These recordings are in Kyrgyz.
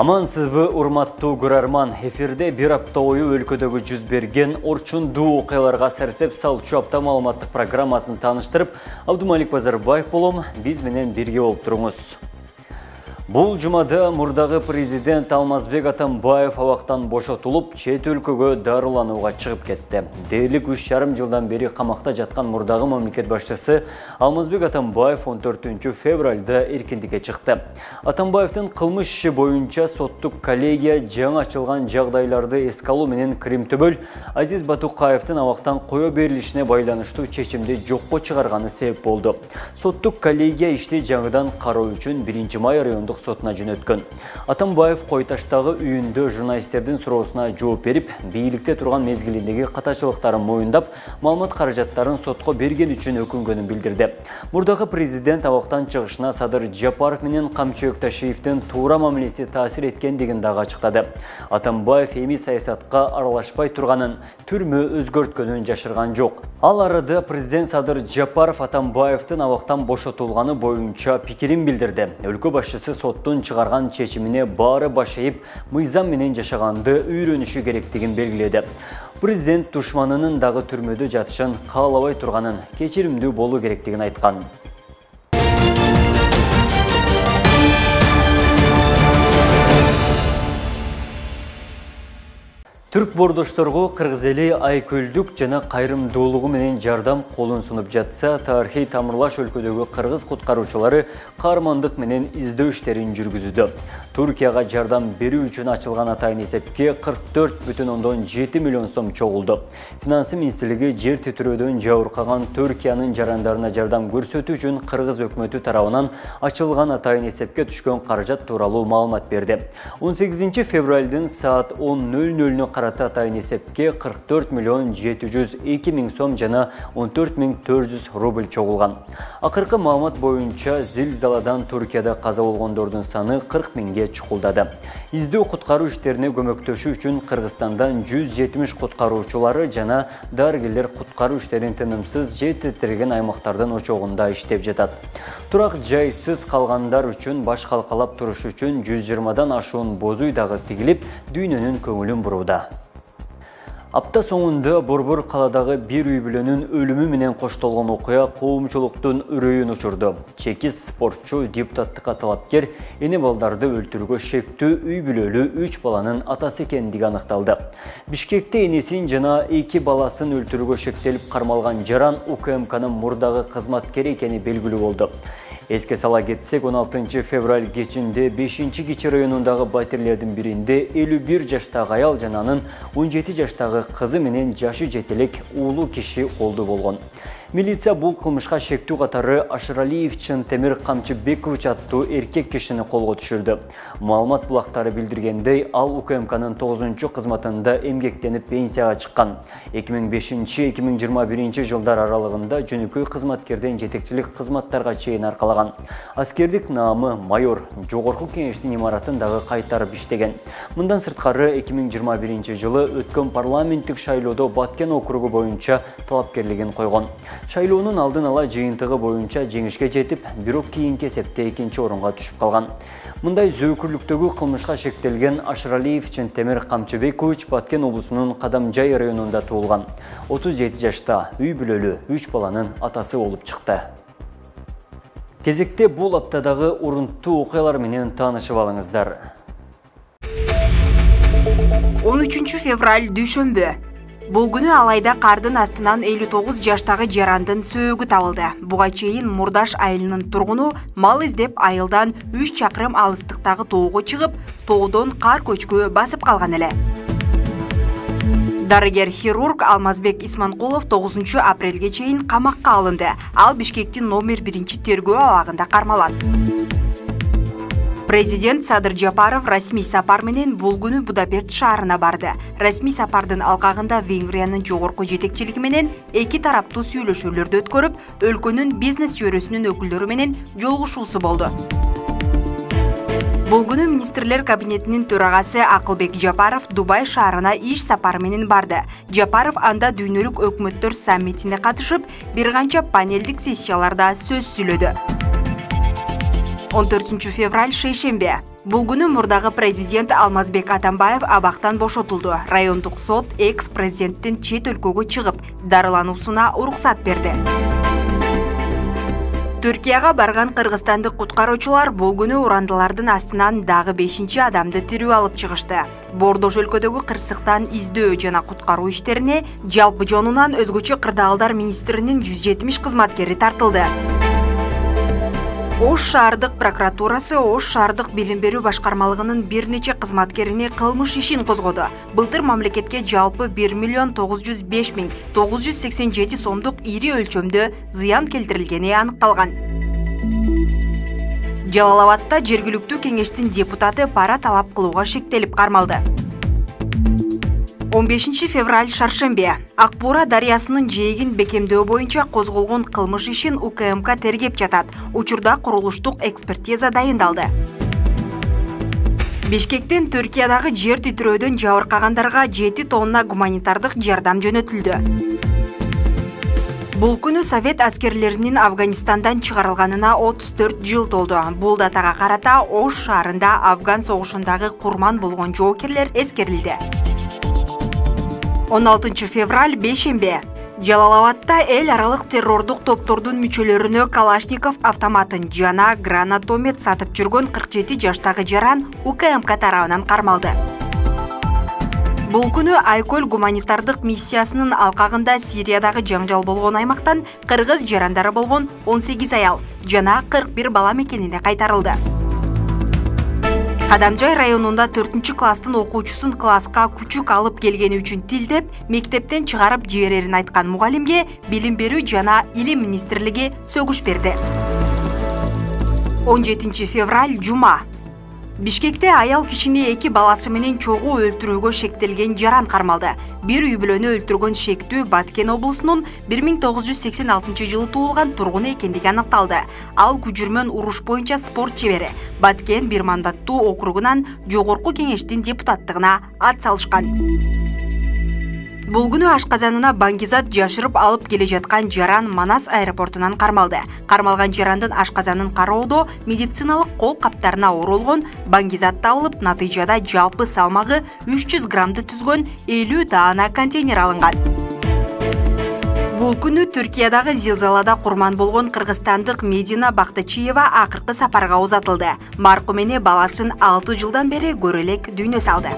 Амансызбы, урматтуу көрөрман. Эфирде бир апта бою өлкөдөгү жүз берген орчундуу окуяларга сарсеп салчу апта маалыматтык программасын тааныштырып, Абдумалик Базарбаев болом. Биз менен бирге болуп туруңуз. Бул жумада мурдагы президент Алмазбек Атамбаев абактан бошотулуп, чет өлкөгө дарыланууга чыгып кетти. Дээрлик 3,5 жылдан бери камакта жаткан мурдагы мамлекет башчысы Алмазбек Атамбаев 14 февралда эркиндикке чыкты. Атамбаевдин кылмыш иши боюнча соттук коллегия жаңы ачылган жагдайларды эске алуу менен Кримтөбөл Азиз Батукаевдин абактан кое берилишине байланыштуу чечимди жокко чыгарганы себеп болду. Соттук коллегия ишти жаңыдан кароо үчүн 1-май райондук сотуна жөнөткөн. Атамбаев Койташтагы үйүндө журналисттердин суроосуна жооп берип, бийликте турган мезгилиндеги катачылыктарын моюндап, маалымат каражаттарын сотко берген үчүн өкүнгөнүн билдирди. Мурдагы президент абактан чыгышына Садыр Жапаров менен Камчыбек Ташиевдин туура мамилеси таасир эткендигин дагы ачыктады. Атамбаев эми саясатка аралашпай турганын, түрмө өзгөрткөнүн жашырган жок. Ал арада президент Садыр Жапаров Атамбаевдин абактан бошотулганы боюнча пикирин билдирди. Өлкө башчысы соттун чыгарган чечимине баары баш ийип, мыйзам менен жашаганды үйрөнүшү керектигин белгиледи. Президент душманынын дагы түрмөдө жатышын каалабай турганын, кечиримдүү болуу керектигин айткан. Түрк бордошторго кыргыз эли айкөлдүк жана кайрымдуулугу менен жардам колун сунуп жатса, тарыхый тамырлаш өлкөдөгү кыргыз куткаруучулары каармандык менен издөө иштерин жүргүзүүдө. Туркияга жардам берүү үчүн ачылган атайын эсепке 44,7 миллион сом чогулду. Финансы министрлиги жер титирөөдөн жабыркаган Түркиянын жарандарына жардам көрсөтүү үчүн кыргыз өкмөтү тарабынан ачылган атайын эсепке түшкөн каражат тууралуу маалымат берди. 18 февралдын саат 10:00 карата атайын эсепке 44,702 миң сом жана 14,400 рубль чогулган. Акыркы маалымат боюнча зилзаладан Туркияда каза болгондордун саны 40 миңге чукулдады. Издөө куткаруу иштерине көмөктөшүү үчүн Кыргызстандан 170 куткаруучулары жана дарыгерлер куткаруу иштерин тынымсыз же титиреген аймактардын очогунда иштеп жатат. Турак жайсыз калгандар үчүн баш калкалап туруш үчүн 120дан ашуун боз үй дагы тигилип, дүйнөнүн көңүлүн бурууда. Апта соңунда Борбор каладагы бир үй бүлөнүн өлүмү менен коштолгон окуя коомчулуктун үрөйүн учурду. Чекис спортчу, депутаттыкка талапкер эне балдарды өлтүрүүгө шектүү үй бүлөлүү 3 баланын атасы экендиги аныкталды. Бишкекте энесин жана 2 баласын өлтүрүүгө шектелип кармалган жаран УКМКнын мурдагы кызматкери экени белгилүү болду. Эске сала кетсек, 16 февраль кечинде 5-Кичи районундагы батирлердин биринде 51 жаштагы аял жана анын 17 жаштагы кызы менен жашы жетелек уулу киши колду болгон. Милиция бул кылмышка шектүү катары Ашыралиев Чынтемир Камчыбекович аттуу эркек кишини колго түшүрдү. Маалымат булактары билдиргендей, ал УКМКнын 9-чу кызматында эмгектенип пенсияга чыккан. 2005-2021 жылдар аралыгында жөнөкөй кызматкерден жетекчилик кызматтарга чейин аркалаган. Аскердик наамы майор, жогорку кеңештин имаратын дагы кайтарып иштеген. Мындан сырткары 2021 жылы өткөн парламенттик шайлоодо Баткен округу боюнча талапкерлигин койгон. Шайлоонун алдын ала жыйынтыгы боюнча жеңишке жетип, бирок кийинки эсепте 2-чи орунга түшүп калган. Мындай зөөкүрлүктөгү кылмышка шектелген Ашыралиев Чынтемир Камчыбекович Баткен облусунун Кадамжай районунда туулган. 37 жашта, үй бүлөлүү 3 баланын атасы болуп чыкты. Кезекте бул аптадагы урунттуу окуялар менен таанышып алыңыздар. 13 февраль дүйшөмбү. Бул күнү Алайда кардын астынан 59 жаштагы жарандын сөөгү табылды. Буга чейин Мурдаш айылынын тургуну мал издеп айылдан 3 чакырым алыстыктагы тоого чыгып, тоодон кар көчкү басып калган эле. Дарыгер-хирург Алмазбек Исманкулов 9 апрелге чейин камакка алынды. Ал Бишкектин номер 1 тергөө абагында кармалат. Президент Садыр Жапаров расмий сапар менен бул күнү Будапешт шаарына барды. Расмий сапардын алкагында Венгриянын жогорку жетекчилиги менен эки тараптуу сүйлөшүүлөрдү өткөрүп, өлкөнүн бизнес чөйрөсүнүн өкүлдөрү менен жолугушуусу болду. Бул күнү министрлер кабинетинин төрагасы Акылбек Жапаров Дубай шаарына иш сапары менен барды. Жапаров анда дүйнөлүк өкмөттөр саммитине катышып, бир канча панелдик сессияларда сөз сүйлөдү. 14 февраль шейшембе. Бул күнү мурдагы президент Алмазбек Атамбаев абактан бошотулду. Райондук сот экс-президенттин чет өлкөгө чыгып, дарылануусуна уруксат берди. Түркияга барган кыргызстандык куткаруучулар бул күнү урандылардын астынан дагы 5 адамды тирүү алып чыгышты. Бордош өлкөдөгү кырсыктан издөө жана куткаруу иштерине жалпы жонунан өзгөчө кырдаалдар министринин 170 кызматкери тартылды. Ош шаардык прокуратурасы Ош шаардык билим берүү башкармалыгынын бир нече кызматкерине кылмыш ишин козгоду. Былтыр мамлекетке жалпы 1.905.987 сомдук ири өлчөмдө зыян келтирилгени аныкталган. Жалал Абадта жергиликтүү кеңештин депутаты пара талап кылууга шектелип кармалды. 15 февраль шаршембе. Акбура дарыясынын жээгин бекемдөө боюнча козголгон кылмыш ишин УКМК тергеп жатат. Учурда курулуштук экспертиза дайындалды. Бишкектен Түркиядагы жер титирөөдөн жабыркагандарга 7 тонна гуманитардык жардам жөнөтүлдү. Бул күнү Совет аскерлеринин Афганистандан чыгарылганына 34 жыл толду. Бул датага карата Ош шаарында Афган согушундагы курман болгон жоокерлер эскерилди. 16 февраль бейшембе. Жалал Абадта эл аралык террордук топтордун мүчөлөрүнө Калашников автоматын жана гранатомет сатып жүргөн 47 жаштагы жаран УКМК тарабынан кармалды. Бул күнү Айкөл гуманитардык миссиясынын алкагында Сириядагы жаңжал болгон аймактан кыргыз жарандары болгон 18 аял жана 41 бала мекенине кайтарылды. Кадамжай районунда 4-класстын окуучусун класска күчүк алып келгени үчүн тилдеп, мектептен чыгарып жиберерин айткан мугалимге билим берүү жана илим министрлиги сөгүш берди. 17 февраль жума. Бишкекте аял кишини 2 баласы менен чогуу өлтүрүүгө шектелген жаран кармалды. Бир үй бүлөнү өлтүргөн шектүү Баткен облусунун 1986 жылы туулган тургуну экендиги аныкталды. Ал күжүрмөн уруш боюнча спорт чебери. Баткен бир мандаттуу округунан жогорку кеңештин депутаттыгына ат салышкан. Бул күнү ашказанына баңгизат жашырып алып келе жаткан жаран Манас аэропортунан кармалды. Кармалган жарандын ашказанын кароодо медициналык кол каптарына оролгон баңгизат табылып, натыйжада жалпы салмагы 300 граммды түзгөн 50 даана контейнер алынган. Бул күнү Түркиядагы зилзалада курман болгон кыргызстандык Медина Бактычиева акыркы сапарга узатылды. Маркум эне баласын 6 жылдан бери көрө элек дүйнө салды.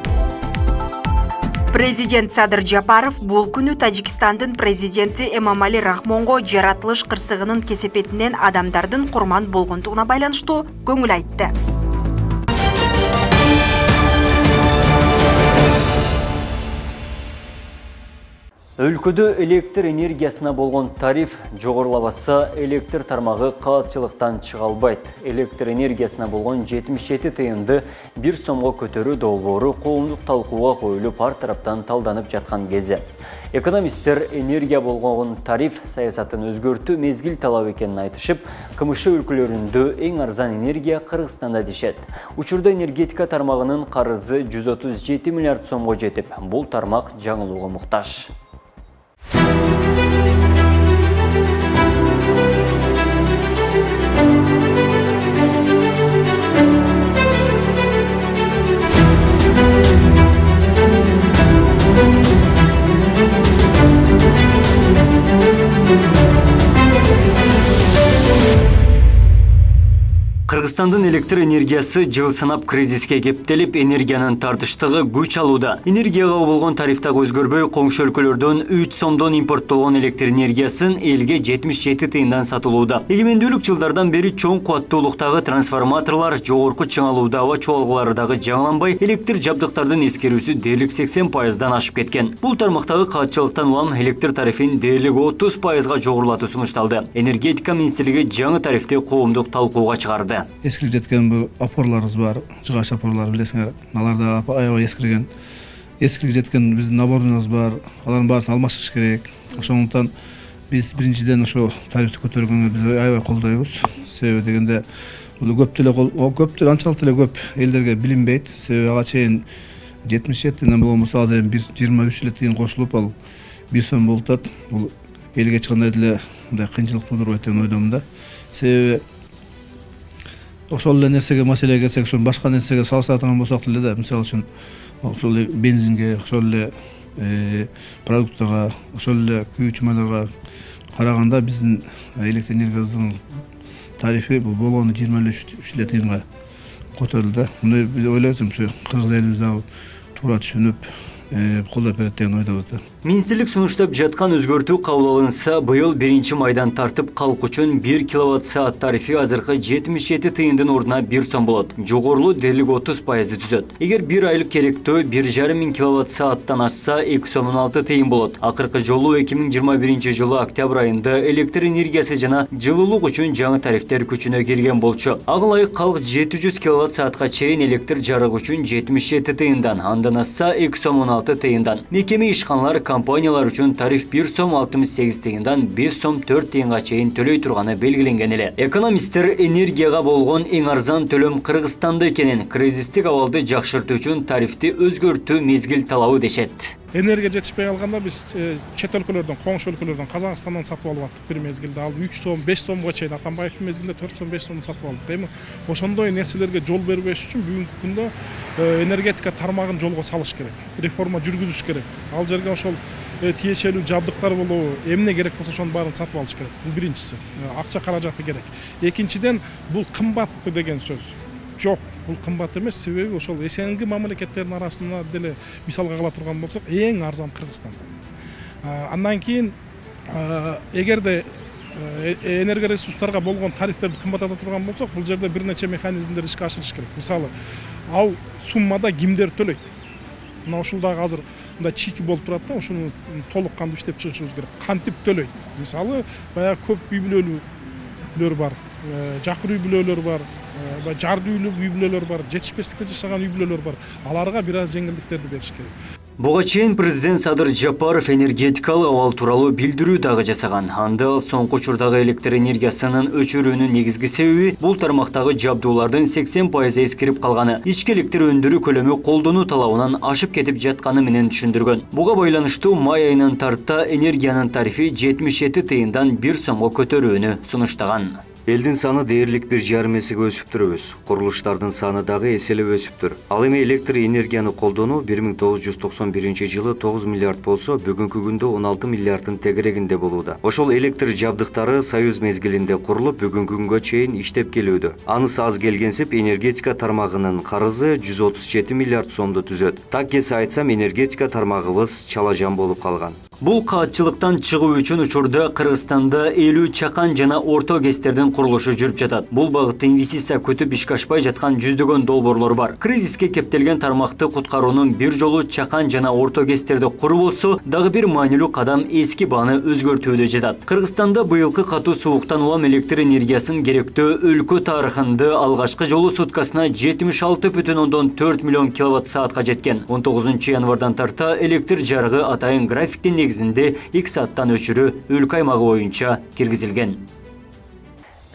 Президент Садыр Жапаров бул күнү Тажикстандын президенти Эмомали Рахмонго жаратылыш кырсыгынын кесепетинен адамдардын курман болгондугуна байланыштуу көңүл айтты. Өлкөдө электр энергиясына болгон тариф жогорулабаса, электр тармагы каатчылыктан чыга албайт. Электр энергиясына болгон 77 тыйынды 1 сомго көтөрүү долбоору коомдук талкууга коюлуп, ар тараптан талданып жаткан кезде. Экономисттер энергия болгон тариф саясатын өзгөртүү мезгил талап экенин айтышып, КМШ өлкөлөрүндө эң арзан энергия Кыргызстанда дешет. Учурда энергетика тармагынын карызы 137 миллиард сомго жетип, бул тармак жаңылууга муктаж. Кыргызстандын электр энергиясы жыл санап кризиске кептелип, энергиянын тартыштыгы күч алууда. Энергияга болгон тарифтагы өзгөрбөй, коңшу өлкөлөрдөн 3 сомдон импорттолгон электр энергиясын элге 77 тыйындан сатылууда. Эгемендүүлүк жылдардан бери чоң кубаттуулуктагы трансформаторлор, жогорку чыңалууда аба чуалгылары дагы жаңыланбай, электр жабдыктардын эскерүүсү дээрлик 80%дан ашып кеткен. Бул тармактагы каатчылыктан улам электр тарифин дээрлик 30%га жогорулатуу сунушталды. Энергетика министрлиги жаңы тарифти коомдук талкууга чыгарды. Ескирип жеткен бул опорларыбыз бар, жыгач опорлар билесиңер. Алар да аябай эскирген. Ескирип жеткен биздин наборубуз бар. Алардын баарын алмаштырыш керек. Ошондуктан биз биринчиден ошо тарифти көтөргөнгө биз аябай колдойбуз. Себеби дегенде бул көптөр анчалык деле көп элдерге билинбейт. Себеби ага чейин 77 болмосо азыр 23 эле тыйын кошулуп, ал 1 сом болуп атат. Бул элге эч кандай деле мындай кыйынчылык туудурбайт деп ойдомун да. Себеби ошол эле нерсеге маселеге келсек, ошо башка нерсеге салыштырган болсок деле да, мисалы үчүн ошол эле бензинге, ошол эле продуктага, ошол эле күйүүчү майларга караганда биздин электр энергиясынын тарифи болгону 23 тыйынга көтөрүлдү. Муну биз ойлойбуз, ушу кыргыз элибиз дагы туура түшүнүп колдоп берет деген ойдобуз да. Министрлик сунуштап жаткан өзгөртүү кабыл алынса, быйыл 1 майдан тартып калк үчүн 1 киловатт-саат тарифи азыркы 77 тыйындын ордуна 1 сом болот. Жогорулуу дерлик 30% түзөт. Эгер 1 айлык керектөө 1,5 миң киловатт-сааттан ашса 2 сом 16 тыйын болот. Акыркы жолу 2021-жылы октябрь айында электр энергиясы жана жылуулук үчүн жаңы тарифтер күчүнө кирген болчу. Ага ылайык калк 700 киловатт-саатка чейин электр жарык үчүн 77 тыйындан, андан ашса 2 сом 16 тыйындан. Мекеме ишканалар компаниялар үчүн тариф 1 сом 68 тыйындан 5 сом 4 тыйынга чейин төлөй турганы белгиленген эле. Экономисттер энергияга болгон эң арзан төлөм Кыргызстанда экенин, кризистик абалды жакшыртуу үчүн тарифти өзгөртүү мезгил талабы дешет. Энергия жетишпей калганда биз чет өлкөлөрдөн, коңшу өлкөлөрдөн, Казакстандан сатып алып аттык бир мезгилде. Ал 3 сом, 5 сомго чейин, Атамбаевдин мезгилинде 4 сом, 5 сом сатып алдык. Эми ошондой нерселерге жол бербеш үчүн бүгүнкү күндө энергетика тармагын жолго салыш керек. Реформа жүргүзүш керек. Ал жерге ошол тиешелүү жабдыктар болобу, эмне керек болсо ошонун баарын сатып алыш керек. Бул биринчиси. Акча каражаты керек. Экинчиден, бул кымбатпы деген сөз жок. Бул кымбат эмес, себеби ошол СНГ мамлекеттеринин арасында деле мисалга ала турган болсок, эң арзан Кыргызстан. Андан кийин эгерде энергия ресурстарга болгон тарифтерди кымбатата турган болсок, бул жерде бир нече механизмдер ишке ашырыш керек. Мисалы, ал суммада кимдер төлөйт? Мына ушул дагы азыр мындай чийки болуп турат да, ушуну толук кандуу иштеп чыгышыбыз керек. Кантип төлөйт? Мисалы, баягы көп үй бүлөлүүлөр бар, жакыр үй бүлөлөр бар, жарды үй бүлөлөр бар, жетишпестикте жашаган үй бүлөлөр бар. Аларга бир аз жеңилдиктерди бериш керек. Буга чейин президент Садыр Жапаров энергетикалык абал тууралуу билдирүү дагы жасаган. Анда ал соңку учурдагы электр энергиясынын өчүрүүнүн негизги себеби бул тармактагы жабдуулардын 80% эскирип калганы, ички электр өндүрүү көлөмү колдонуу талабынан ашып кетип жатканы менен түшүндүргөн. Буга байланыштуу май айынын тарта энергиянын тарифи 77 тыйындан 1 сомго көтөрүүнү сунуштаган. Элдин саны дээрлик 1,5 эсеге өсүптүрбүз. Курулуштардын саны дагы эселеп өсүптүр. Ал эми электр энергияны колдонуу 1991-жылы 9 миллиард болсо, бүгүнкү күндө 16 миллиарддын тегерегинде болууда. Ошол электр жабдыктары Союз мезгилинде курулуп, бүгүнкү күнгө чейин иштеп келүүдө. Анысы аз келгенсип, энергетика тармагынын карызы 137 миллиард сомду түзөт. Так эсе айтсам, энергетика тармагыбыз чалажан болуп калган. Бул каатчылыктан чыгуу үчүн учурда Кыргызстанда 50 чакан жана орто ГЭСтердин курулушу жүрүп жатат. Бул багытта инвестиция күтүп ишке ашпай жаткан жүздөгөн долбоорлор бар. Кризиске кептелген тармакты куткаруунун бир жолу чакан жана орто ГЭСтерди куруу болсо, дагы бир маанилүү кадам эски бааны өзгөртүүдө жатат. Кыргызстанда быйылкы катуу сууктан улам электр энергиясын керектөө өлкө тарыхында алгачкы жолу суткасына 76,4 миллион киловатт-саатка жеткен. 19 январдан тарта электр жарыгы атайын графиктин негизинде 2 сааттан өчүрүү өлкө аймагы боюнча киргизилген.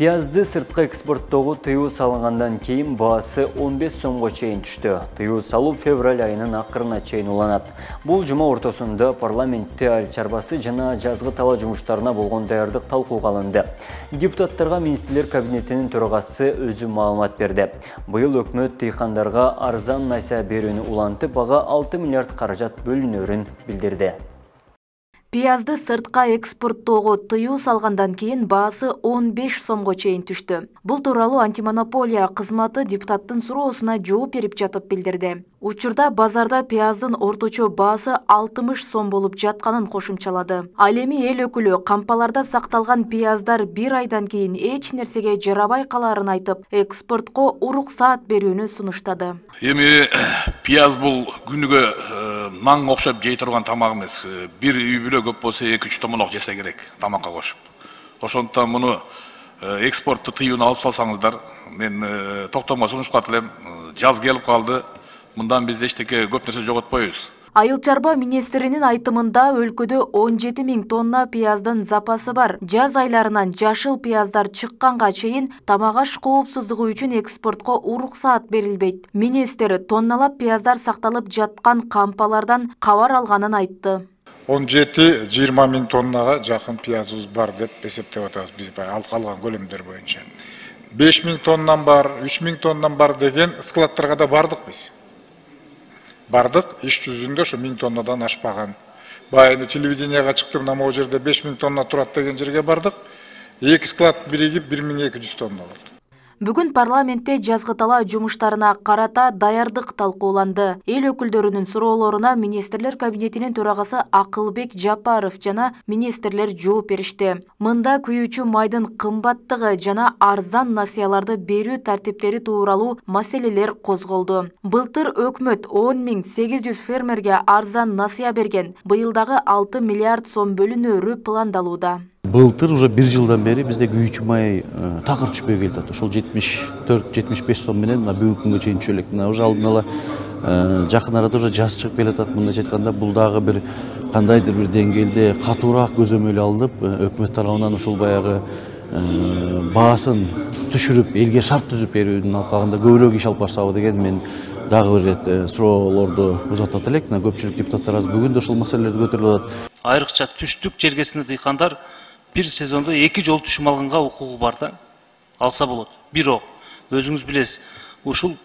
Пиязды сыртқы экспорттоого тыюу салынгандан кийин баасы 15 сомго чейин түштү. Тыюу салуу февраль айынын акырына чейин уланат. Бул жума ортосунда парламентте айыл чарбасы жана жазгы тала жумуштарына болгон даярдык талкууга алынды. Депутаттарга министрлер кабинетинин төрагасы өзү маалымат берди. Быйыл өкмөт дыйкандарга арзан найса берүүнү улантып, ага 6 миллиард каражат бөлүнөрүн билдирди. Пиязды сыртка экспорттоого тыюу салгандан кийин баасы 15 сомго чейин түштү. Бул тууралуу антимонополия кызматы депутаттын суроосуна жооп берип жатып билдирди. Учурда базарда пияздын орточо баасы 60 сом болуп жатканын кошумчалады. Ал эми эл өкүлү кампаларда сакталган пияздар bir айдан кийин эч нерсеге жарабай каларын айтып, экспортко уруксаат берүүнү сунуштады. Эми пияз бул күнүгө наң окшоп жей турган тамак эмес. Бир үй бүлө көп болсо 2-3 томолок жесе керек тамакка кошуп. Ошондуктан муну экспортту тыюуну алып салсаңыздар, мен токтомго сунуштап элем. Жаз келип калды. Мындан биз эчтеке көп нерсе жоготпойбуз. Айыл чарба министринин айтымында өлкөдө 17 000 тонна пияздын запасы бар. Жаз айларынан жашыл пияздар чыкканга чейин тамак аш коопсуздугу үчүн экспортко уруксаат берилбейт. Министр тонналап пияздар сакталып жаткан кампалардан кабар алганын айтты. 17-20 000 тоннага жакын пиязыбыз бар деп эсептеп атабыз биз алып калган көлөмдөр боюнча. 5000 тоннан бар, 3000 тоннан бар деген складтарга да бардык биз. Бардык, иш жүзүндө ошо 1000 тоннадан ашпаган. Баягы телевиденияга чыктым, могу жерде 5000 тонна турат деген жерге бардык. 2 склад биригип 1200 тонна болду. Бүгүн парламентте жазгы талаа жумуштарына карата даярдык талкууланды. Эл өкүлдөрүнүн суроолоруна министрлер кабинетинин төрагасы Акылбек Жапаров жана министрлер жооп беришти. Мында күйүүчү майдын кымбаттыгы жана арзан насыяларды берүү тартиптери тууралуу маселелер козголду. Былтыр өкмөт 10.800 фермерге арзан насыя берген. Быйыл дагы 6 миллиард сом бөлүнөөрү пландалууда. Былтыр уже 1 жылдан бери бизде күйүүчү май такыр түшпөй келатат. Ошол 74-75 сом менен бүгүнкү күнгө чейин түшө элек. Уже алдын ала жакын арада уже жаз чыгып келатат. Мындайча айтканда бул дагы бир кандайдыр бир деңгээлде катуураак көзөмөл алынып, өкмөт тарабынан ошол баягы баасын түшүрүп, элге шарт түзүп берүүнүн алкагында көбүрөөк иш алып барсабы деген мен дагы бир ирет суроолорду узатат элек. Көпчүлүк депутаттар аз бүгүн да ошол маселелерди көтөрүп атат. Айрыкча түштүк жергесинде дыйкандар bir сезондо 2 жолу түшүм алганга укугу бар да, алса болот. Бирок өзүңүз билесиз, ушул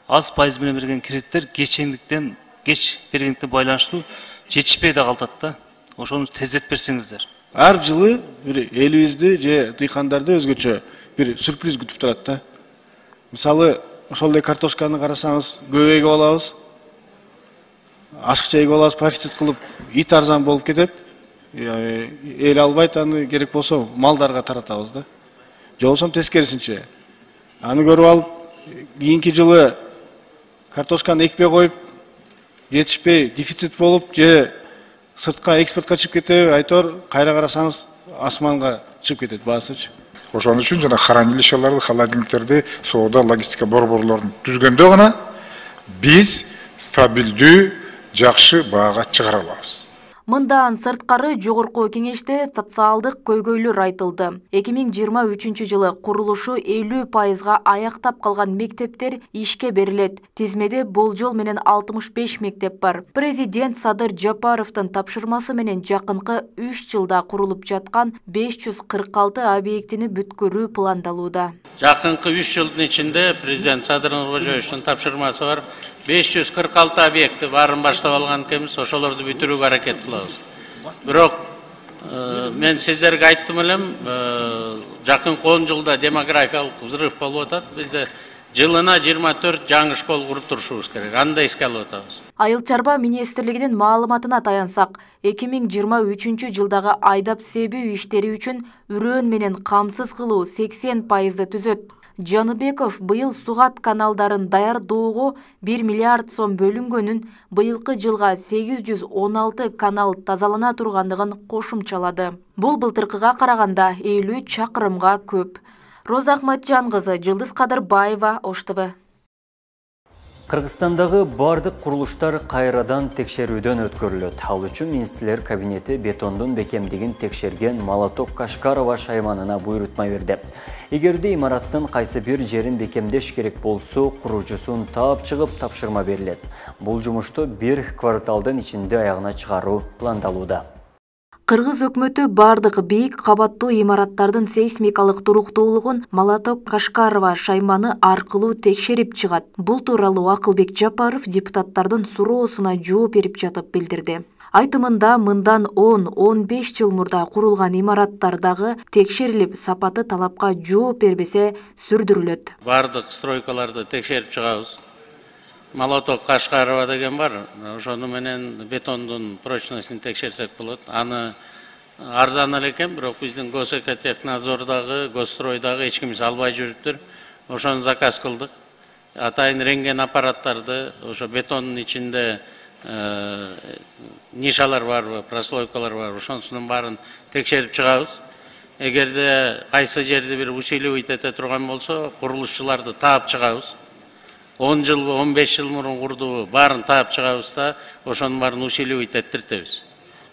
аз пайыз менен берген кредиттер кечендиктен кеч бергендиктен байланыштуу жетишпей да калат да. Ошону тездетип берсеңиздер. Ар жылы бир элибизди же дыйкандарды өзгөчө бир сюрприз күтүп турат да. Мисалы, ошол эле картошканы карасаңыз, көп эгип алабыз. Ашыкча эгип алабыз, профицит кылып, ит арзан болуп кетет. Эл албайт, аны керек болсо малдарга таратабыз да. Же болбосо тескерисинче. Аны көрүп алып, кийинки жылы картошканы экпей коюп, жетишпей, дефицит болуп, же сыртка экспортко чыгып кетеби, айтор, кайра карасаңыз асманга чыгып кетет баасычы. Ошон үчүн жана хранилищаларды, холодильниктерди, соода, логистика борборлорун түзгөндө гана биз стабилдүү, жакшы баага чыгара алабыз. Мындан сырткары жогорку кеңеште социалдык көйгөйлөр айтылды. 2023 жылы курулушу 50% аяктап калган мектептер ишке берилет. Тизмеде болжол менен 65 мектеп бар. Президент Садыр Жапаровдун тапшырмасы менен жакынкы 3 жылда курулуп жаткан 546 объектини бүткөрүү пландалууда. Жакынкы 3 жылдын ичинде президент Садыр Нуркожоевичтин тапшырмасы бар. 546 объекти барын баштап алган экенбиз, ошолорду бүтүрүүгө аракет кылабыз. Бирок мен сиздерге айттым элем, жакынкы 10 жылда демографиялык взрыв болуп атат. Бизде жылына 24 жаңы школ куруп турушубуз керек. Аны да эске алып атабыз. Айыл чарба министрлигинин маалыматына таянсак, 2023 жылдагы айдап себүү иштери үчүн үрөөн менен камсыз кылуу 80% түзөт. Жаныбеков быйыл Сугат каналдарын даярдоого 1 миллиард сом бөлүнгөнүн, быйылкы жылга 816 канал тазалана тургандыгын кошумчалады. Бул былтыркыга караганда 50 чакырымга көп. Роза Ахматжан кызы, Жылдыз Кадырбаева, Ош ТВ. Кыргызстандагы бардык курулуштар кайрадан текшерүүдөн өткөрүлөт. Ал үчүн министрлер кабинети бетондун бекемдигин текшерген Молоток Кашкарова шайманына буйрутма берди. Эгерде имараттын кайсы бир жерин бекемдеш керек болсо, куруучусун таап чыгып тапшырма берилет. Бул жумушту 1 кварталдын ичинде аягына чыгаруу пландалууда. Кыргыз өкмөтү бардык бийик кабаттуу имараттардын сейсмикалык туруктуулугун Молоток Кашкарова шайманы аркылуу текшерип чыгат. Бул тууралуу Акылбек Жапаров депутаттардын суроосуна жооп берип жатып билдирди. Айтымында мындан 10-15 жыл мурда курулган имараттардагы текшерилип, сапаты талапка жооп бербесе сүрдүрүлөт. Бардык стройкаларды текшерип чыгабыз. Молоток Кашкарова деген бар. Ошону менен бетондун прочностун текшерсек болот. Аны арзан эле экен, бирок биздин Госэкотехнадзордагы, Госстройдагы эч кимиз албай жүрүптүр. Ошону заказ кылдык. Атайын рентген аппараттарды, ошо бетондун ичинде нишалар барбы, прослойкалар барбы, ошонусунун баарын текшерип чыгабыз. Эгерде кайсы жерде бир усиливать эте турган болсо, курулушчуларды таап чыгабыз. 10 жыл, 15 жыл мурун курдубу, баарын таап чыгабыз да, ошонун баарын усиливать эттиртебиз.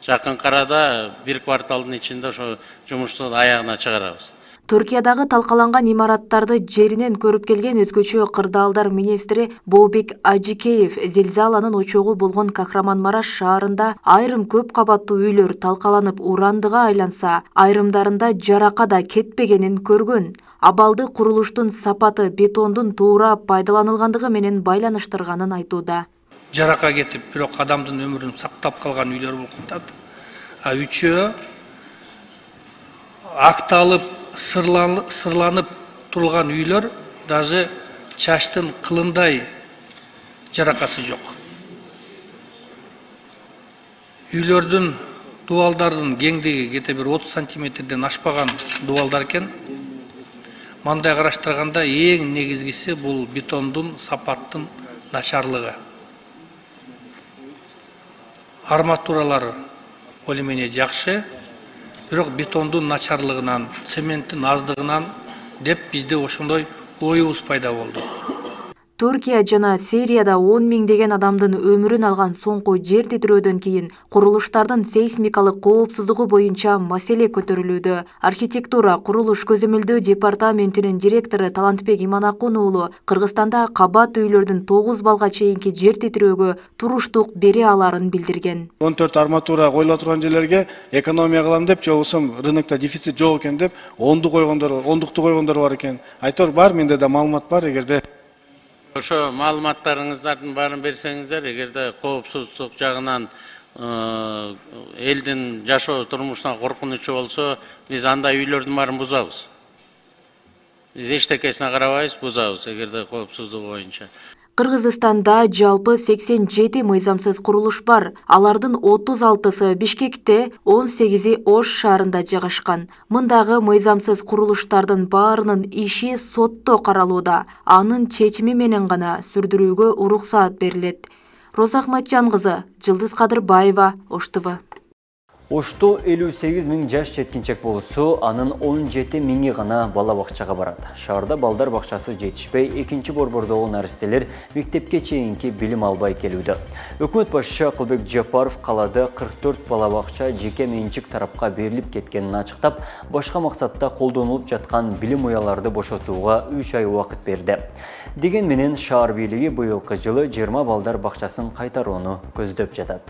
Жакынкы арада 1 кварталдын ичинде ошо жумушту аягына чыгарабыз. Түркиядагы талкаланган имараттарды жеринен көрүп келген өзгөчө кырдаалдар министри Бообек Ажикеев зилзаланын очогу болгон Кахраманмараш шаарында айрым көп кабаттуу үйлөр талкаланып урандыга айланса, айрымдарында жарака да кетпегенин көргөн. абалды курулуштун сапаты бетондун туура пайдаланылгандыгы менен байланыштырганын айтууда. Жарака кетип, бирок адамдын өмүрүн сактап калган үйлөр болуп калат. А үчөө акталып, сырланып турган үйлөр даже чачтын кылындай жаракасы жок. Үйлөрдүн дубалдардын кеңдиги кете бир 30 сантиметрден ашпаган дубалдар экен. Мындай караштырганда эң негизгиси бул бетондун сапаттын начарлыгы. Арматуралар более менее жакшы, бирок бетондун начарлыгынан, цементтин аздыгынан деп бизде ошондой оюбуз пайда болду. Түркия жана Сирияда 10 миңдеген адамдын өмүрүн алган соңку жер титирөөдөн кийин курулуштардын сейсмикалык коопсуздугу боюнча маселе көтөрүлүүдө. Архитектура, курулуш көзөмөлдөө департаментинин директору Талантбек Иманакун уулу Кыргызстанда кабат үйлөрдүн 9 балга чейинки жер титирөөгө туруштук бере аларын билдирген. 14 арматура коюла турган жерлерге экономия кылам деп, же болбосо рынокто дефицит жок экен деп, ондукту койгондор бар экен. Айтор бар, менде да маалымат бар, эгерде ошо маалыматтарыңыздардын баарын берсеңиздер, эгерде коопсуздук жагынан элдин жашоо турмушуна коркунучу болсо, биз андай үйлөрдүн баарын бузабыз. Биз эчтекесине карабайбыз, бузабыз, эгерде коопсуздугу боюнча. Кыргызстанда жалпы 87 мыйзамсыз курулуш бар. Алардын 36-сы Бишкекте, 18-и Ош шаарында жайгашкан. Мындагы мыйзамсыз курулуштардын баарынын иши сотто каралууда. Анын чечими менен гана сүрдүрүүгө уруксаат берилет. Роза Ахматжан кызы, Жылдыз Кадырбаева, Ош ТВ. Ошто 58 миң жаш жеткинчек болсо, анын 17 миңи гана бала бакчага барат. Шаарда балдар бакчасы жетишпей, экинчи борбордогу наристелер мектепке чейинки билим албай келүүдө. Өкмөт башчысы Акылбек Жапаров калада 44 бала бакча жеке менчик тарапка берилип кеткенин ачыктап, башка максатта колдонулуп жаткан билим уяларды бошотууга 3 ай убакыт берди. Деген менен шаар бийлиги быйылкы жылы 20 балдар бакчасын кайтарууну көздөп жатат.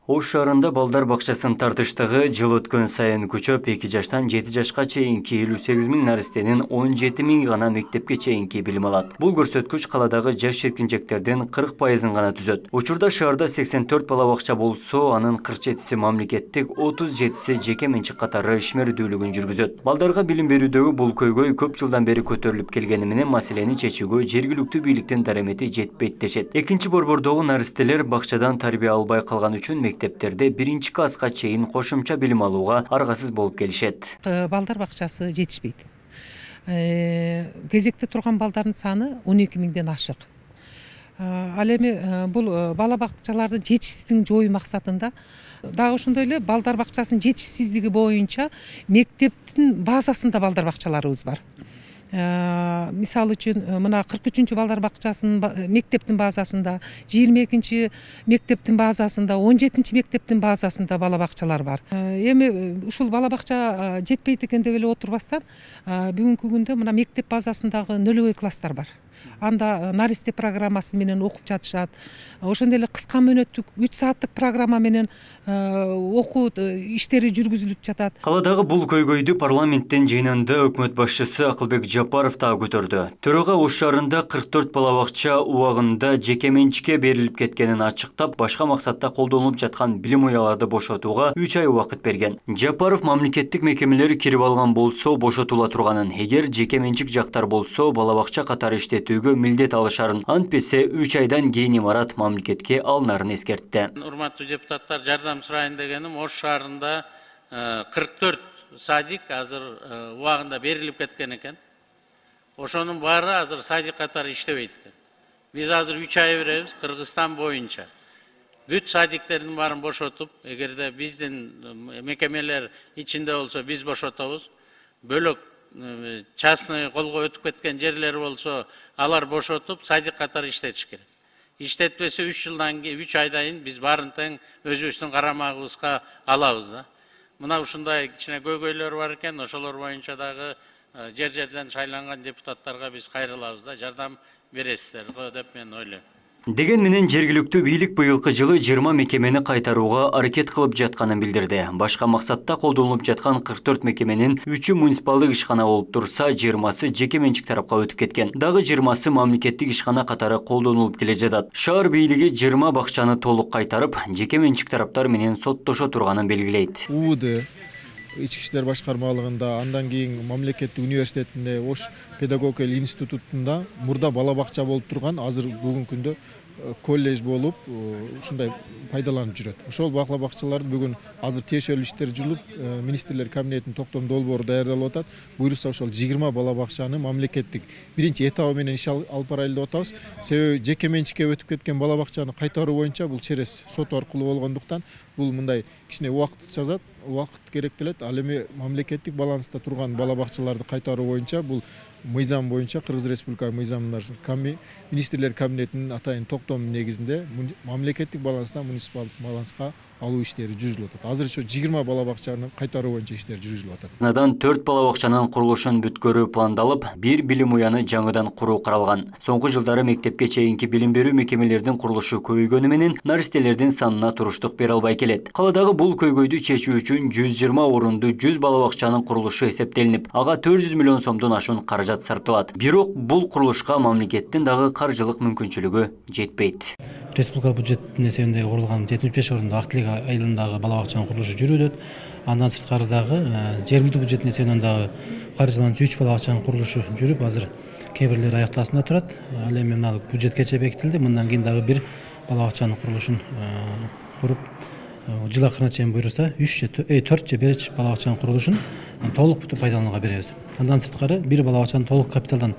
Ош шаарында балдар бакчасын тартыштыгы жыл өткөн сайын күчөп, 2 жаштан 7 жашка чейинки 58 миң наристенин 17 миңи гана мектепке чейинки билим алат. Бул көрсөткүч каладагы жаш жеткинчектердин 40%-ын гана түзөт. Учурда шаарда 84 бала бакча болсо, анын 47-си мамлекеттик, 37-си жеке менчик катары ишмердүүлүгүн жүргүзөт. Балдарга билим берүүдөгү бул көйгөй көп жылдан бери көтөрүлүп келгени менен маселени чечүүгө жергиликтүү бийликтин дарамети жетпейт дешет. Экинчи борбордогу наристелер бакчадан тарбия албай калган үчүн мектептерде 1-чи класска чейин кошумча билим алууга аргасыз болуп келишет. Балдар бакчасы жетишпейт. Кезекте турган балдардын саны 12 миңден ашык. Ал эми бул бала бакчалардын жетишсиздигин жоюу максатында дагы ошондой эле балдар бакчасынын жетишсиздиги боюнча мектептин базасында балдар бакчаларыбыз бар. Мисалы үчүн мына 43-чү балдар бакчасынын мектептин базасында, 22-чи мектептин базасында, 17-чи мектептин базасында бала бакчалар бар. Эми ушул бала бакча жетпейт экен деп эле отурбастан, бүгүнкү күндө мына мектеп базасындагы нөлөбөй класстар бар. Анда наристе программасы менен окуп жатышат. Ошондой эле кыска мөөнөттүк 3 сааттык программа менен окуу иштери жүргүзүлүп жатат. Каладагы бул көйгөйдү парламенттин жыйынында өкмөт башчысы Акылбек Жапаров да көтөрдү. Төрөгө Ош шаарында 44 бала бакча убагында жеке менчикке берилип кеткенин ачыктап, башка максатта колдонулуп жаткан билим уяларды бошотууга 3 ай убакыт берген. Жапаров мамлекеттик мекемелер кирип алган болсо бошотула турганын, эгер жеке менчик жактар болсо бала бакча катары иштетүүгө милдет алышарын, антпесе 3 айдан кийин имарат мамлекетке алынарын эскертти. Урматтуу депутаттар, жардам сурайын дегеним, Ош шаарында 44 садик азыр убагында берилип кеткен экен. Ошонун баары азыр садик катары иштебейт экен. Биз азыр 3 ай беребиз Кыргызстан боюнча. Бүт садиктердин баарын бошотуп, эгерде биздин мекемелер ичинде болсо биз бошотобуз. Бөлөк частный колго өтүп кеткен жерлер болсо, алар бошотуп садик катары иштетиш керек. Иштетпесе 3 жылдан кийин, 3 айдан кийин биз баарын тең өзүбүздүн карамагыбызга алабыз да. Мына ушундай кичине көйгөйлөр бар экен, ошолор боюнча дагы жер-жерден шайланган депутаттарга биз кайрылабыз да, жардам бересиздер го деп мен ойлойм. Деген менен жергиликтүү бийлик быйылкы жылы 20 мекемени кайтарууга аракет кылып жатканын билдирди. Башка максатта колдонулуп жаткан 44 мекеменин 3-ü муниципалдык ишкана болуп турса, 20сы жеке менчик тарапка өтүп кеткен. Дагы 20сы мамлекеттик ишкана катары колдонулуп келе жатат. Шаар бийлиги 20 бакчаны толук кайтарып, жеке менчик тараптар менен соттошо турганын белгилейт. Ички иштер башкармалыгында, андан кийин мамлекеттик университетинде, Ош педагогика институтунда мурда бала бакча болуп турган, азыр бүгүнкү күндө колледж болуп, ушундай пайдаланып жүрөт. Ошол бала бакчаларды бүгүн азыр тиешелүү иштер жүрүп, министрлер кабинетинин токтом долбоору даярдалып атат. Буюрса ошол 20 бала бакчаны мамлекеттик биринчи этабы менен иш алып барайлы деп атабыз. Себеби жеке менчикке өтүп кеткен бала бакчаны кайтаруу боюнча бул через сот аркылуу болгондуктан бул мындай кичине убакыт керектелет. Ал эми мамлекеттик баланста турган бала бакчаларды кайтаруу боюнча бул мыйзам боюнча Кыргыз Республика мыйзамында министрлер кабинетинин атайын токтому негизинде мамлекеттик баланстан муниципалдык баланска алуу иштери жүргүзүлүп атат. Азыр ошо 20 бала бакчаны кайтаруу боюнча иштер жүргүзүлүп атат. Надан 4 бала бакчанын курулушун бүткөрүү пландалып, 1 билим уяны жаңыдан куруу каралган. Соңку жылдары мектепке чейинки билим берүү мекемелердин курулушу көбөйгөнү менен наристелердин санына туруштук бере албай келет. Каладагы бул көйгөйдү чечүү үчүн 120 орунду 100 бала бакчанын курулушу эсептелинип, ага 400 миллион сомдон ашуун каражат сарпталат. Бирок бул курулушка мамлекеттин дагы каржылык мүмкүнчүлүгү жетпейт. Республика бюджетинин эсебинде курулган 75 орунду Актилек айылындагы бала бакчанын курулушу жүрүүдө. Андан сырткары дагы жергиликтүү бюджеттин эсебинен дагы каржыланчу 3 бала бакчанын курулушу жүрүп, азыр кээ бирлери аяктоосунда турат. Ал эми мына бюджет кече бекитилди. Мындан кийин дагы бир бала бакчанын курулушун куруп, жыл акырына чейин буюрса 4 же 5 бала бакчанын курулушун толук бүтүп пайдаланууга беребиз. Андан сырткары бир бала бакчаны толук капиталдык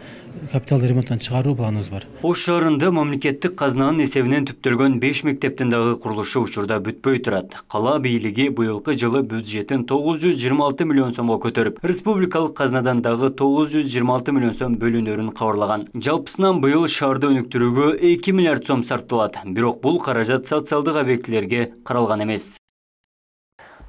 ремонттон чыгаруу планыбыз бар. Ош шаарында мамлекеттик казнанын эсебинен түптөлгөн 5 мектептин дагы курулушу учурда бүтпөй турат. Кала бийлиги быйылкы жылы бюджетин 926 миллион сомго көтөрүп, республикалык казнадан дагы 926 миллион сом бөлүнөрүн кабарлаган. Жалпысынан быйыл шаарды өнүктүрүүгө 2 миллиард сом сарпталат. Бирок бул каражат социалдык объектилерге каралган эмес.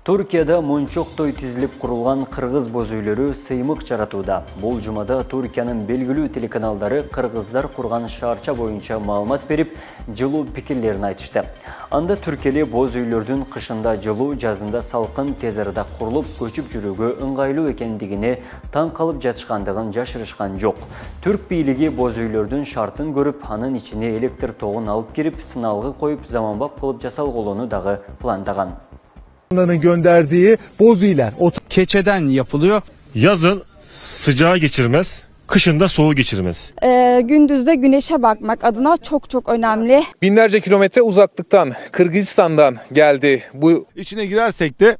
Туркияда мончоктой тизилип курулган кыргыз боз үйлөрү сыймык жаратууда. Бул жумада Туркиянын белгилүү телеканалдары кыргыздар курган шаарча боюнча маалымат берип, жылуу пикирлерин айтышты. Анда түркели боз үйлөрдүн кышында жылуу, жазында салкын, тез арада курулуп, көчүп жүрүүгө ыңгайлуу экендигине таң калып жатышкандыгын жашырышкан жок. Түрк бийлиги боз үйлөрдүн шартын көрүп, анын ичине электр тогун алып кирип, сыналгы коюп, заманбап кылып жасалгылоону дагы пландаган. Gönderdiği boz uylar keçeden yapılıyor. Yazın sıcağı geçirmez, kışın da soğuğu geçirmez. Gündüzde güneşe bakmak adına çok önemli. Binlerce kilometre uzaklıktan, Kırgızistan'dan geldi. Bu içine girersek de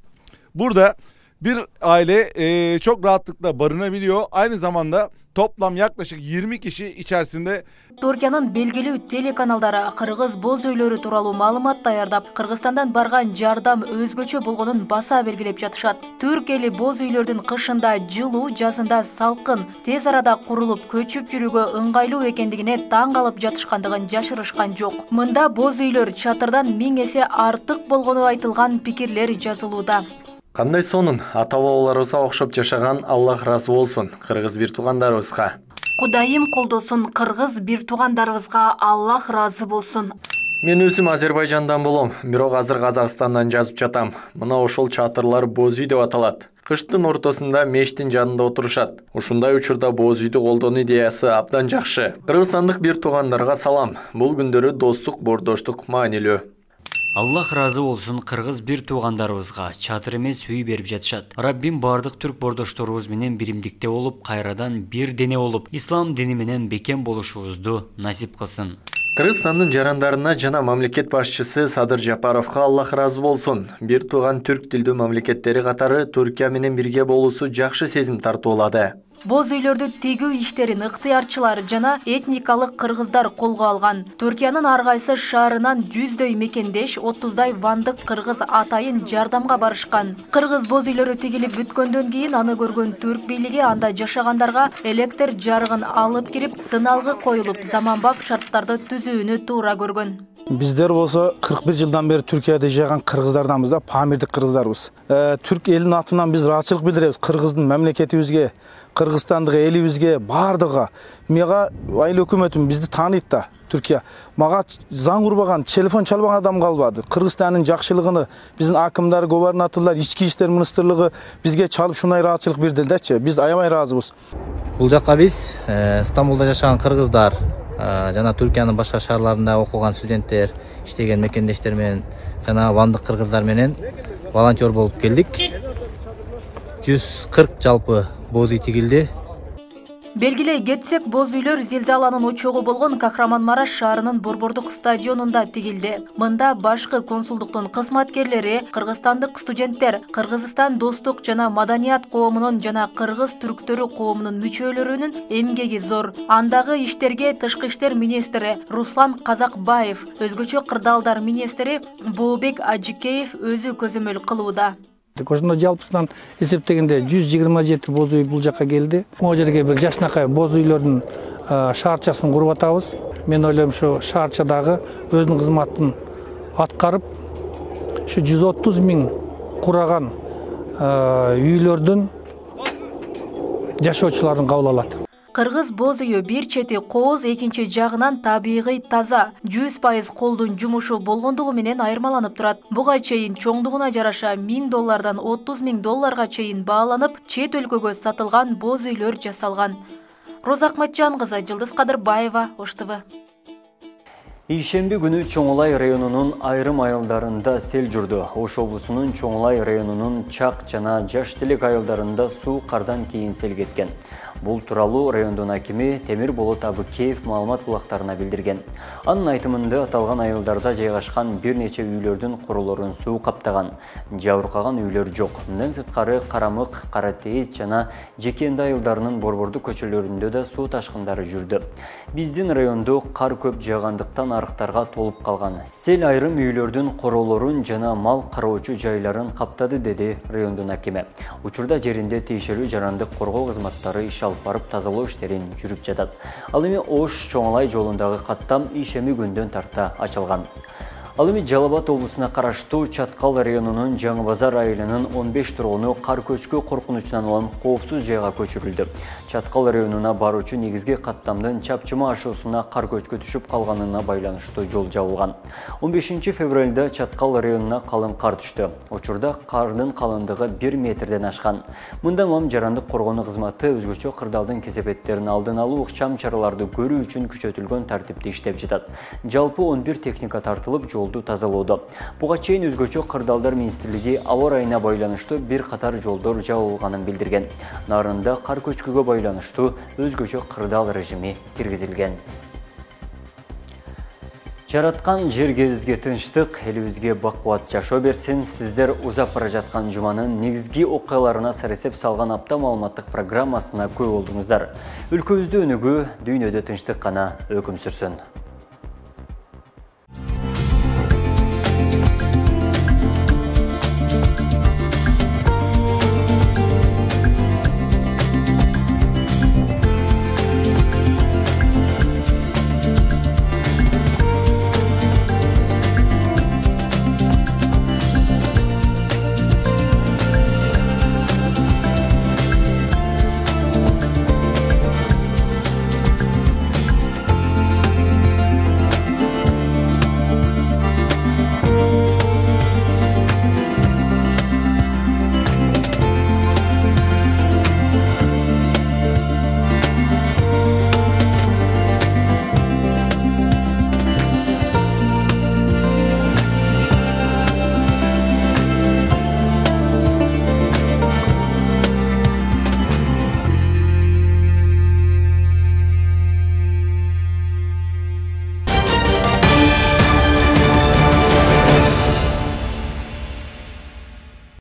burada bir aile çok rahatlıkla barınabiliyor. Aynı zamanda toplam yaklaşık 20 kişi içerisinde. Türkiye'nin belgilүү телеканалдары кыргыз боз үйлөрү тууралуу маалымат даярдап, Кыргызстандан барган жардам өзгөчө болгонун баса белгилеп жатышат. Түрк эли боз үйлөрдүн кышында жылуу, жазында салкын, тез арада курулуп, көчүп жүрүүгө ыңгайлуу экендигине таң калып жатышкандыгын жашырышкан жок. Мында боз үйлөр чатырдан 1000 эсе артык болгону айтылган пикирлер жазылууда. Кандай сонун ата-бабаларыбызга окшоп жашаган, Аллах ыраазы болсун кыргыз бир туугандарыбызга. Кудайым колдосун кыргыз бир туугандарыбызга, Аллах ыраазы болсун. Мен өзүм Азербайжандан болом, бирок азыр Казакстандан жазып жатам. Мына ошол чатырлар боз үй деп аталат. Кыштын ортосунда мештин жанында отурушат. Ушундай учурда боз үйдү колдонуу идеясы абдан жакшы. Кыргызстандык бир туугандарга салам. Бул күндөрү достук, бордоштук маанилүү. Аллах разы болсун кыргыз бир туугандарыбызга чатыр эмес үй берип жатышат. Раббим бардык түрк бордошторубуз менен биримдикте болуп, кайрадан бир дене болуп, ислам дини менен бекем болушубузду насип кылсын. Кыргызстандын жарандарына жана мамлекет башчысы Садыр Жапаровго Аллах разы болсун. Бир тууган түрк тилдүү мамлекеттери катары Түркия менен бирге болуусу жакшы сезим тартуулады. Боз үйлөрдү тегүү иштерин ыктыярчылар жана этникалык кыргыздар колго алган. Түркиянын ар кайсы шаарынан 100дөй мекендеш, 30дай вандык кыргыз атайын жардамга барышкан. Кыргыз боз үйлөрү тигилип бүткөндөн кийин аны көргөн түрк бийлиги анда жашагандарга электр жарыгын алып кирип, сыналгы коюлуп, заманбап шарттарды түзүүнү туура көргөн. Биздер болсо 41 жылдан бери Түркияда жашаган кыргыздарданбыз да, памирдик кыргыздарбыз. Түрк элинин атынан биз ыраазычылык билдиребиз кыргыздын мамлекетибизге, Кыргызстандык элибизге, бардыгы. Мага айыл өкмөтүм бизди тааныйт да. Түркия. Мага заң урбаган, телефон чалбаган адам калбады. Кыргызстандын жакшылыгыны биздин акымдар, губернаторлар, ички иштер министрлиги бизге чалып шундай ыраазычылык берди дечи. Биз аябай ыраазыбыз. Бул жакка биз Стамбулда жашаган кыргыздар жана Түркиянын башка шаарларында окуган студенттер, иштеген мекендештер менен жана вандык кыргыздар менен волонтер болуп келдик. 140 жалпы боз үй тигилди. Белгилей кетсек, боз үйлөр зилзаланын очогу болгон Кахраманмараш шаарынын Борбордук стадионунда тигилди. Мында башкы консулдуктун кызматкерлери, кыргызстандык студенттер, Кыргызстан достук жана маданият коомунун жана кыргыз түрктөрү коомунун мүчөлөрүнүн эмгеги зор. Андагы иштерге тышкы иштер министри Руслан Казакбаев, өзгөчө кырдаалдар министри Бообек Ажикеев өзү көзөмөл кылууда. Ошондо жалпысынан эсептегенде 127 боз үй бул жакка келди. Могу жерге бир жашынакай боз үйлөрдүн шаарчасын куруп атабыз. Мен ойлойм ушу шаарчадагы өзүнүн кызматын аткарып, ушу 130 миң кураган үйлөрдүн жашоочуларын кабыл алат. Кыргыз боз үйү бир чети кооз, экинчи жагынан табигый таза, 100% колдун жумушу болгондугу менен айырмаланып турат. Буга чейин чоңдугуна жараша $1000 $30,000 чейин бааланып, чет өлкөгө сатылган боз үйлөр жасалган. Роза Акматжан кызы, Жылдыз Кадырбаева, Ош ТВ. Ишемби күнү Чоңулай районунун айрым айылдарында сел жүрдү. Ош облусунун Чоңулай районунун Чак жана Жаштелек айылдарында суу кардан кийин сел кеткен. Бул тууралуу райондун акими Темир Болот Абыкеев маалымат булактарына билдирген. Анын айтымында аталган айылдарда жайгашкан бир нече үйлөрдүн курулорун суу каптаган. Жабыркаган үйлөр жок. Мындан сырткары Карамык, Каратейит жана Жекенди айылдарынын борбордук көчөлөрүндө да суу ташкындары жүрдү. Биздин райондо кар көп жаагандыктан арыктарга толуп калган. Сел айрым үйлөрдүн королорун жана мал кароочу жайларын каптады, деди райондун акими. Учурда жеринде тийишелүү жарандык коргоо кызматтары иш алып барып тазалоо иштерин жүрүп жатат. Ал эми Ош Чоңулай жолундагы каттам ишеми күндөн тарта ачылган. Ал эми Жалал Абад облусуна караштуу Чаткал районунун Жаңы Базар айылынын 15 тургуну кар көчкү коркунучунан улам коопсуз жайга көчүрүлдү. Чаткал районуна баруучу негизги каттамдын чапчыма ашуусуна кар көчкү түшүп калганына байланыштуу жол жабылган. 15 февралда Чаткал районуна калың кар түштү. Учурда кардын калыңдыгы 1 метрден ашкан. Мындан улам жарандык коргонуу кызматы өзгөчө кырдаалдын кесепеттерин алдын алуу ыкчам чараларды көрүү үчүн күчөтүлгөн тартипте иштеп жатат. Жалпы 11 техника тартылып жолду тазалоодо. Буга чейин өзгөчө кырдаалдар министрлиги аба ырайына байланыштуу бир катар жолдор жабылганын билдирген. Нарында кар көчкүгө байланыштуу өзгөчө кырдаал режими киргизилген. Жараткан жерге тынчтык, элибизге бакубат жашоо берсин. Сиздер узап бара жаткан жуманын негизги окуяларына саресеп салган апта маалыматтык программасына көп болдуңуздар. Өлкөбүздө өнүгүү, дүйнөдө тынчтык гана өкүм сүрсүн.